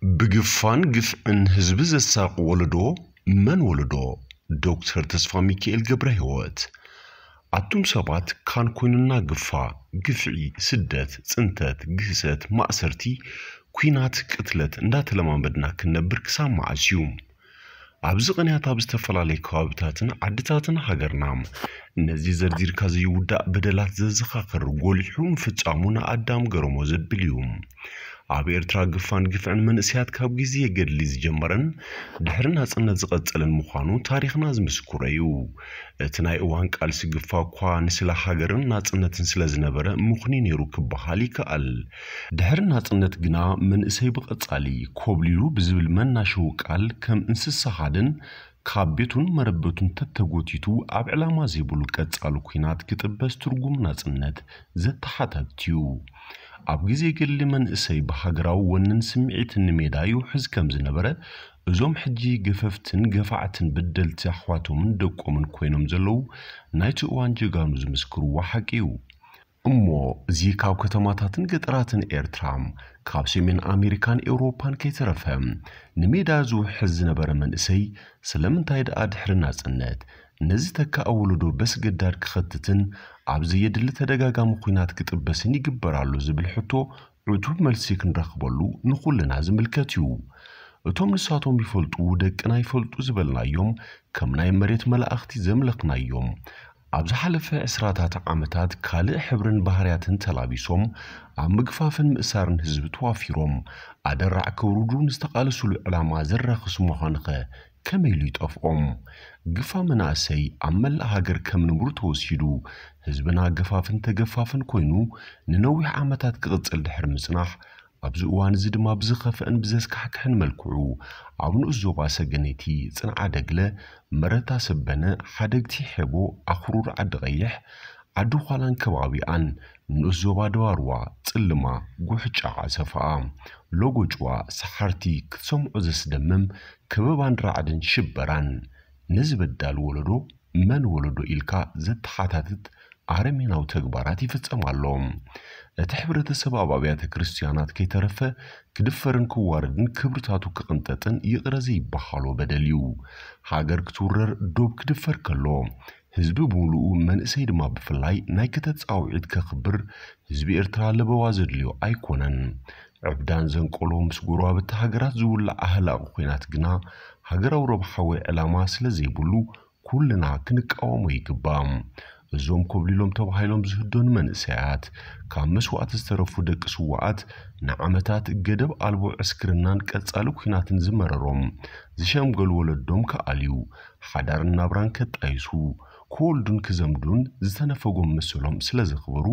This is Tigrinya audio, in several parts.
ብግፋን ግፍዕን ህዝቢ ዘሳቕ ወለዶ መን ወለዶ? ዶክተር ተስፋ ሚካኤል ገብረ ህይወት። ኣቱም ሰባት ካን ኮይኑና ግፋ፣ ግፍዒ፣ ስደት፣ ጽንተት፣ ግህሰት፣ ማእሰርቲ፣ ኲናት፣ ቅትለት እንዳተለማመድና ክንነብር ክሳብ መዓስ እዩ? ኣብዚ ቅንያት ኣብ ዝተፈላለዩ ከባብታትን ዓድታትን ሃገርና ነዚ ዘርዚርካ ዘይውዳእ በደላት ዘዘኻኽር ጎሊሑ ምፍጻሙ ንኣዳም ገረሞ ዘብል እዩ። ኣብ ኤርትራ ግፋን ግፍዕን መንእሰያት ካብ ግዜ ገድሊ ዝጀመረን ድሕሪ ናጽነት ዝቐጸለን ምዃኑ ታሪኽና ዝምስክሮ እዩ። እቲ ናይ እዋን ቃልሲ ግፋ እኳ ንስለ ሃገርን ናጽነትን ስለ ዝነበረ ምኹኒ ነይሩ ክበሃል ይከኣል። ድሕሪ ናጽነት ግና መንእሰይ ብቐጻሊ ኮብሊሉ ብዝብል መናሸዊ ቃል ከም እንስሳ ሃደን ካብ ቤቱን መረበቱን ተተጎቲቱ ኣብ ዕላማ ዘይብሉ ቀጻሊ ኲናት ክጥበስ ትርጉም ናጽነት ዘተሓታትት እዩ። ኣብ ግዜ ገድሊ መንእሰይ ብሃገራዊ ወንን ስምዒትን ንሜዳ ይውሕዝ ከም ዝነበረ እዞም ሕጂ ገፈፍትን ገፋዕትን በደልቲ ኣሕዋቶምን ደቆምን ኮይኖም ዘለዉ ናይቲ እዋን ጀጋኑ ዝምስክርዎ ሓቂ እዩ። እሞ እዚ ካብ ከተማታትን ገጠራትን ኤርትራ፣ ካብ ሰሜን ኣሜሪካን ኤውሮፓን ከይተረፈ ንሜዳ ዝውሕዝ ዝነበረ መንእሰይ ስለምንታይ ደኣ ድሕሪ ናጽነት ነዚ ተካእ ወለዶ በስገዳድ ክኸትትን ኣብ ዘየድሊ ተደጋጋሚ ኲናት ክጥበስን ይግበር ኣሎ ዝብል ሕቶ ዕቱብ መልሲ ክንረኽበሉ ንኹልና ዝምልከት እዩ። እቶም ንሳቶም ይፈልጡ ደቅና ይፈልጡ ዝበልናዮም ከም ናይ መሬት መላእኽቲ ዘምለኽናዮም ኣብ ዝሓለፈ ዕስራታት ዓመታት ካልእ ሕብርን ባህርያትን ተላቢሶም ኣብ ምግፋፍን ምእሳርን ህዝቢ ተዋፊሮም ኣደራዕ ከውርዱ ንዝተቓለሱሉ ዕላማ ዘራኽስ ምዃኑኸ ከመይ ኢሉ ይጠፍኦም? ግፋ መናእሰይ ኣብ መላእ ሃገር ከም ንቡር ተወሲዱ ህዝብና ገፋፍን ተገፋፍን ኮይኑ ንነዊሕ ዓመታት ክቕጽል ድሕሪ ምጽናሕ ኣብዚ እዋን እዚ ድማ ብዝኸፍአን ብዘስካሕክሕን መልክዑ ኣብ ንኡስ ዞባ ሰገነይቲ ጽንዓ ደግለ፣ መረታ ሰበነ፣ ሓደግቲ ሔቦ፣ ኣኽሩር ዓዲ ቀይሕ፣ ዓዲ ዃላን ከባቢኣን፣ ንኡስ ዞባ ደባርዋ፣ ጽልማ፣ ጉሕጫ ዓሰፋኣ፣ ሎጎጭዋ፣ ሰሓርቲ ክትሰምዖ ዘስደምም ከበባን ራዕድን ሽበራን ነዚ በዳል ወለዶ መን ወለዶ ኢልካ ዘተሓታትት ኣረሜናዊ ተግባራት ይፍጸም ኣሎ። እቲ ሕብረተሰብ ኣብ ኣብያተ ክርስትያናት ከይተረፈ ክድፈርን ክዋረድን ክብርታቱ ክቕንጠጥን ይቕረ ዘይበሃሎ በደል እዩ። ሃገር ክትውረር ዶብ ክድፈር ከሎ ህዝቢ ብምሉኡ መንእሰይ ድማ ብፍላይ ናይ ክተት ጻውዒት ከኽብር ህዝቢ ኤርትራ ለበዋ ዘድልዮ ኣይኮነን። ዕብዳን ዘንቀሎ ምስ ጎረባብቲ ሃገራት ዝውላዕ ኣህላቒ ኲናት ግና ሃገራዊ ረብሓ ወይ ዕላማ ስለ ዘይብሉ ኩልና ክንቃወሞ ይግባእ። እዞም ኮብሊሎም ተባሂሎም ዝህደኑ መንእሰያት ካብ መስዋእቲ ዝተረፉ ደቂ ስውኣት ንዓመታት ገደብ ኣልቦ ዕስክርናን ቀጻሊ ኲናትን ዝመረሮም ዝሸምገሉ ወለዶም ክኣልዩ ሓዳርን ናብራን ከጣይሱ ክወልዱን ክዘምዱን ዝተነፈጎም መሰሎም ስለ ዘኽበሩ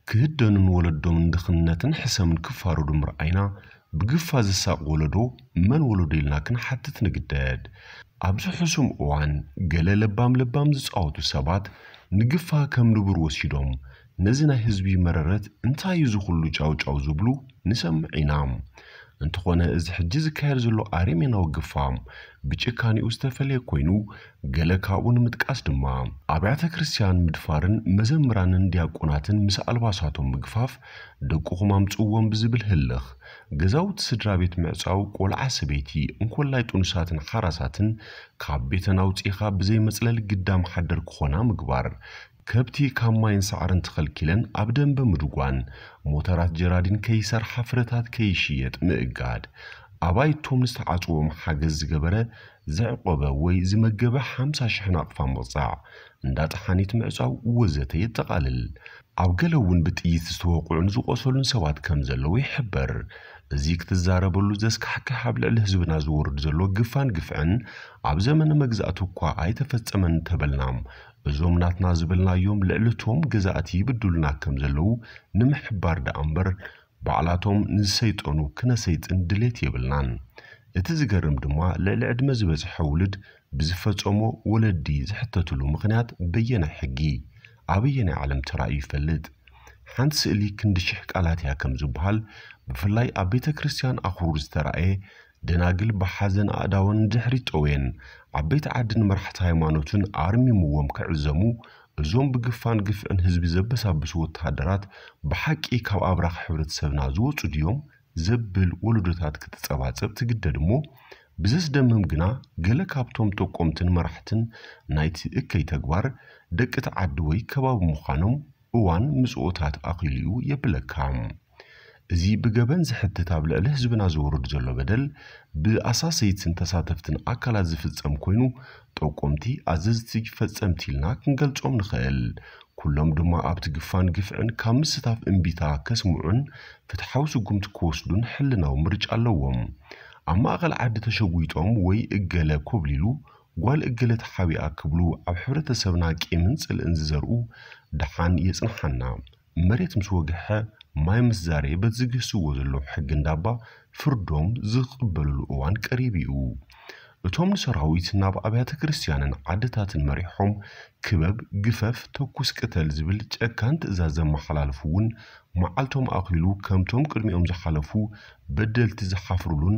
ክህደኑን ወለዶምን ድኽነትን ሕሰምን ክፋረዱ ምርኣይና ብግፋ ዝሳቕ ወለዶ መን ወለዶ ኢልና ክንሓትት ንግደድ። ኣብዚ ሕሱም እዋን ገለ ለባም ለባም ዝጻወቱ ሰባት ንግፋ ከም ንቡር ወሲዶም ነዚ ናይ ህዝቢ መረረት እንታይ እዩ ዝኹሉ ጫውጫው ዝብሉ ንሰምዕ ኢና። እንተኾነ እዚ ሕጂ ዝካየድ ዘሎ ኣረሜናዊ ግፋ ብጭካኔኡ ዝተፈለየ ኮይኑ ገለ ካብኡ ንምጥቃስ ድማ ኣብያተ ክርስትያን ምድፋርን መዘምራንን ዲያቆናትን ምስ ኣልባሳቶም ምግፋፍ ደቅኹም ኣምጽዎም ብዝብል ህልኽ ገዛውቲ ስድራ ቤት ምዕጻው ቆልዓ ሰበይቲ እንኮላይ ጥኑሳትን ሓራሳትን ካብ ቤተን ኣውጺኻ ብዘይ መጽለሊ ግዳም ሓደር ክኾና ምግባር ከብቲ ካብ ማይን ሳዕርን ተኸልኪለን ኣብ ደንበ ምድጓን ሞተራት ጀራዲን ከይሰርሓ ፍረታት ከይሽየጥ ምእጋድ ኣባይቶም ንዝተዓጽዎም ሓገዝ ዝገበረ ዘዕቆበ ወይ ዝመገበ ሓምሳ ሽሕ ናቕፋ ምቕጻዕ እንዳ ጠሓኒት ምዕጻው ወዘተ የጠቓልል። ኣብ ገለ እውን ብጥይት ዝተወቕዑን ዝቖሰሉን ሰባት ከም ዘለዉ ይሕበር። እዚ ክትዛረበሉ ዘስካሕክሕ ኣብ ልዕሊ ህዝብና ዝወርድ ዘሎ ግፋን ግፍዕን ኣብ ዘመነ መግዛእቲ እኳ ኣይተፈጸመን እንተበልና እዞም ናትና ዝበልናዮም ልዕሊ እቶም ገዛእቲ ይብድሉና ከም ዘለዉ ንምሕባር ደኣ እምበር ባዕላቶም ንዝሰይጠኑ ክነሰይጥን ድሌት የብልናን። እቲ ዝገርም ድማ ልዕሊ ዕድመ ዝበጽሐ ውሉድ ብዝፈጸሞ ወለዲ ዝሕተትሉ ምኽንያት በየናይ ሕጊ ኣበየናይ ዓለም ተራእዩ ይፈልጥ? ሓንቲ ስእሊ ክንዲ ሽሕ ቃላት እያ ከም ዝበሃል ብፍላይ ኣብ ቤተ ክርስትያን ኣኽሩር ዝተራእየ ደናግል ብሓዘን ኣእዳወን ንድሕሪት ጠውየን ዓበይቲ ዓድን መራሕቲ ሃይማኖትን ኣርሚምዎም ክዕዘሙ እዞም ብግፋን ግፍዕን ህዝቢ ዘበሳብሱ ወተሃደራት ብሓቂ ካብ ኣብራኽ ሕብረተሰብና ዝወጹ ድዮም? ዘብል ወለዶታት ክትጸባጸብ ትግደድ እሞ፣ ብዘስደምም ግና ገለ ካብቶም ጠቆምትን መራሕትን ናይቲ እከይ ተግባር ደቂ እቲ ዓዲ ወይ ከባቢ ምዃኖም እዋን ምጽኦታት ኣኺሉ እዩ የብለካ። እዚ ብገበን ዝሕትት ኣብ ልዕሊ ህዝብና ዝወርድ ዘሎ በደል ብኣሳሰይትን ተሳተፍትን ኣካላት ዝፍጸም ኮይኑ፣ ጠቆምቲ ኣዘዝቲ ፈጸምቲ ኢልና ክንገልጾም ንኽእል። ኩሎም ድማ ኣብቲ ግፋን ግፍዕን ካብ ምስታፍ እምቢታ ከስምዑን ፍትሓዊ ስጉምቲ ክወስዱን ሕልናዊ ምርጫ ኣለዎም። ኣብ ማእኸል ዓዲ ተሸጒጦም ወይ እገለ ኮብሊሉ ጓል እገለ ተሓቢኣ ክብሉ ኣብ ሕብረተሰብና ቂምን ጽልእን ዝዘርኡ ደሓን የጽንሓና። መሬት ምስ ወግሐ ማይ ምስ ዛረየ በቲ ዝግህስዎ ዘለዉ ሕጊ እንዳባ ፍርዶም ዝቕበልሉ እዋን ቀሪቡ እዩ። እቶም ንሰራዊት ናብ ኣብያተ ክርስትያንን ዓድታትን መሪሖም ክበብ፣ ግፈፍ፣ ተኩስ፣ ቅተል ዝብል ጨካን ትእዛዝ ዘመሓላልፉ እውን መዓልቶም ኣኺሉ ከምቶም ቅድሚኦም ዝሓለፉ በደልቲ ዝሓፍሩሉን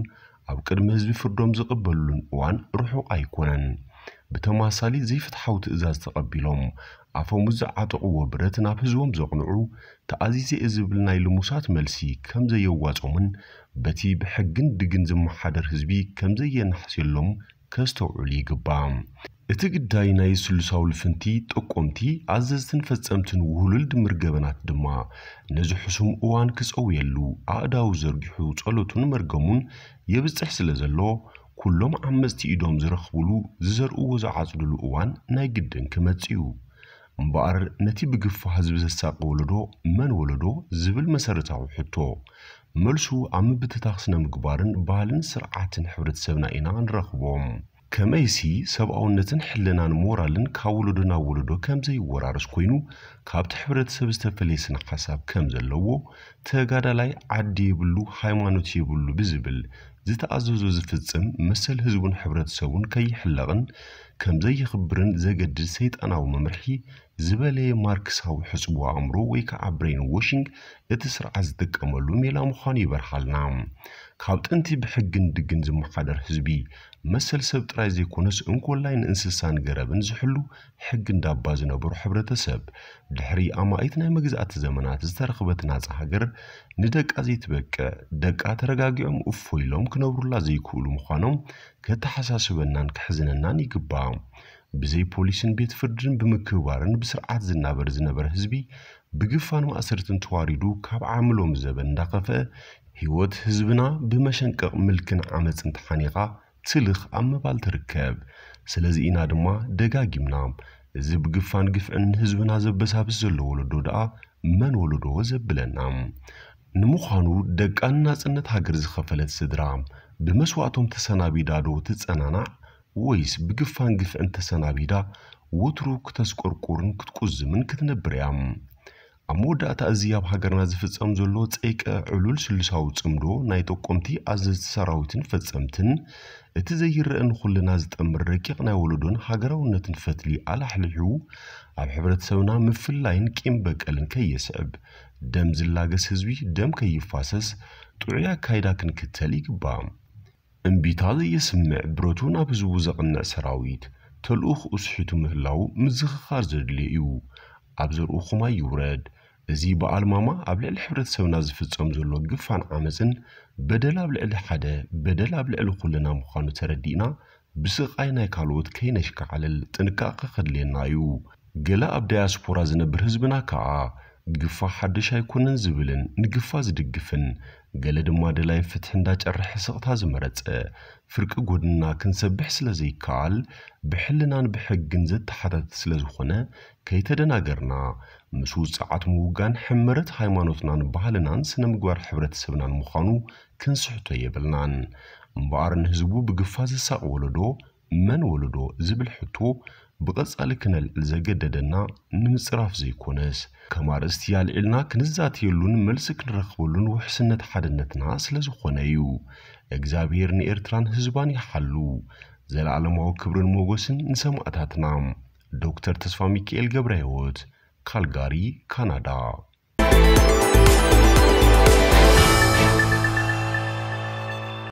ኣብ ቅድሚ ህዝቢ ፍርዶም ዝቕበሉሉን እዋን ርሑቕ ኣይኮነን። ብተማሳሊ ዘይፍትሓዊ ትእዛዝ ተቐቢሎም ኣፈሙዝ ዝዓጠቕዎ ብረት ናብ ህዝቦም ዘቕንዑ፣ ተኣዚዘ እየ ዝብል ናይ ልሙሳት መልሲ ከም ዘየዋጾምን በቲ ብሕግን ድግን ዝመሓደር ህዝቢ ከም ዘየናሕስየሎም ከስተውዕሉ ይግባእ። እቲ ግዳይ ናይ ስሉሳዊ ልፍንቲ ጠቆምቲ፣ ኣዘዝትን ፈጸምትን ውህሉል ድምር ገበናት ድማ ነዚ ሕሱም እዋን ክጸውየሉ ኣእዳው ዘርጊሑ ጸሎቱን መርገሙን የብጽሕ ስለ ዘሎ፣ ኩሎም ዓመጽቲ ኢዶም ዝረኽብሉ ዝዘርእዎ ዝዓጽድሉ እዋን ናይ ግድን ክመጽእ እዩ። እምበኣር ነቲ ብግፋ ህዝቢ ዘሳቂ ወለዶ መን ወለዶ ዝብል መሰረታዊ ሕቶ፣ መልሱ ኣብ ምብትታኽ ስነ ምግባርን ባህልን ስርዓትን ሕብረተሰብና ኢና ንረኽቦ። ከመይሲ ሰብኣውነትን ሕልናን ሞራልን ካብ ወለዶ ናብ ወለዶ ከም ዘይወራረስ ኮይኑ፣ ካብቲ ሕብረተሰብ ዝተፈለየ ስነ ሓሳብ ከም ዘለዎ፣ ተጋዳላይ ዓዲ የብሉ ሃይማኖት የብሉ ብዝብል ዝተኣዘዞ ዝፍጽም መሰል ህዝቡን ሕብረተሰቡን ከይሕለቕን ከም ዘየኽብርን ዘገድድ ሰይጣናዊ መምርሒ ዝበለየ ማርክሳዊ ሕጽቦ ኣእምሮ ወይ ከዓ ብሬን ዎሺንግ እቲ ስርዓት ዝጥቀመሉ ሜላ ምዃኑ ይበርሃልና። ካብ ጥንቲ ብሕግን ድግን ዝመሓደር ህዝቢ መሰል ሰብ ጥራይ ዘይኮነስ እንኮላይ ንእንስሳን ገረብን ዝሕሉ ሕጊ እንዳባ ዝነበሩ ሕብረተሰብ፣ ድሕሪ ኣማኢት ናይ መግዛእቲ ዘመናት ዝተረኽበት ናጻ ሃገር ንደቃ ዘይትበቅዕ፣ ደቃ ተረጋጊዖም እፎ ኢሎም ክነብሩላ ዘይክእሉ ምዃኖም ከተሓሳስበናን ከሕዝነናን ይግባእ። ብዘይ ፖሊስን ቤት ፍርድን ብምክብባርን ብስርዓት ዝናበር ዝነበረ ህዝቢ ብግፋን ማእሰርትን ተዋሪዱ ካብ ዓምሎም ዘበን እንዳኸፍአ ህይወት ህዝብና ብመሸንቀቕ ምልክን ዓመፅን ተሓኒቓ ትልኽ ኣብ ምባል ትርከብ። ስለዚ ኢና ድማ ደጋጊምና እዚ ብግፋን ግፍዕን ንህዝብና ዘበሳብስ ዘሎ ወለዶ ደኣ መን ወለዶ ዘብለና። ንምዃኑ ደቃ ንናጽነት ሃገር ዝኸፈለት ስድራ ብመስዋእቶም ተሰናቢዳ ዶ ትጸናናዕ ወይስ ብግፋን ግፍዕን ተሰናቢዳ ወትሩ ክተስቆርቁርን ክትቁዝምን ክትነብር እያ? ኣብ መወዳእታ እዚ ኣብ ሃገርና ዝፍጸም ዘሎ ጸይቀ ዕሉል ስሉሳዊ ጽምዶ ናይ ጠቆምቲ ኣዘዝቲ ሰራዊትን ፈጸምትን እቲ ዘይረአ ንኹልና ዝጠምር ረቂቕ ናይ ወለዶን ሃገራውነትን ፈትሊ ኣላሕሊሑ ኣብ ሕብረተሰብና ምፍላይን ቂም በቀልን ከየስዕብ ደም ዝላገስ ህዝቢ ደም ከይፋሰስ ጥዑይ ኣካይዳ ክንክተል ይግባእ። እምቢታ ዘየስምዕ ብረቱ ናብ ህዝቡ ዘቕንዕ ሰራዊት ተልእኽኡ ስሒቱ ምህላው ምዝኽኻር ዘድልዮ እዩ። ኣብ ዘርእኹም ኣይውረድ። እዚ በዓል ማማ ኣብ ልዕሊ ሕብረተሰብና ዝፍጸም ዘሎ ግፋን ዓመፅን በደል ኣብ ልዕሊ ሓደ በደል ኣብ ልዕሊ ኩልና ምዃኑ ተረዲእና ብስቓይ ናይ ካልኦት ከይነሽካዕልል ጥንቃቐ ከድልየና እዩ። ገለ ኣብ ዳያስፖራ ዝነብር ህዝብና ከኣ ግፋ ሓድሽ ኣይኮነን ዝብልን ንግፋ ዝድግፍን ገለ ድማ ደላይ ፍትሒ እንዳጨረሐ ስቕታ ዝመረጸ ፍርቂ ጎድንና ክንሰብሕ ስለ ዘይከኣል ብሕልናን ብሕግን ዘተሓታትት ስለ ዝኾነ ከይተደናገርና ምስ ውጽዓት ምውጋን ሕመረት ሃይማኖትናን ባህልናን ስነ ምግባር ሕብረተሰብናን ምዃኑ ክንስሕቶ የብልናን። እምበኣር ንህዝቡ ብግፋ ዘሳቕ ወለዶ መን ወለዶ ዝብል ሕቶ ብቐጻሊ ክነልዕል ዘገደደና ንምጽራፍ ዘይኮነስ ከም ኣርእስቲ ኣልዒልና ክንዛተየሉን መልሲ ክንረኽበሉን ውሕስነት ሓድነትና ስለ ዝኾነ እዩ። እግዚኣብሔር ንኤርትራን ህዝባን ይሓሉ። ዘለዓለማዊ ክብርን ሞገስን ንሰማእታትና። ዶክተር ተስፋ ሚካኤል ገብረ ህይወት፣ ካልጋሪ፣ ካናዳ።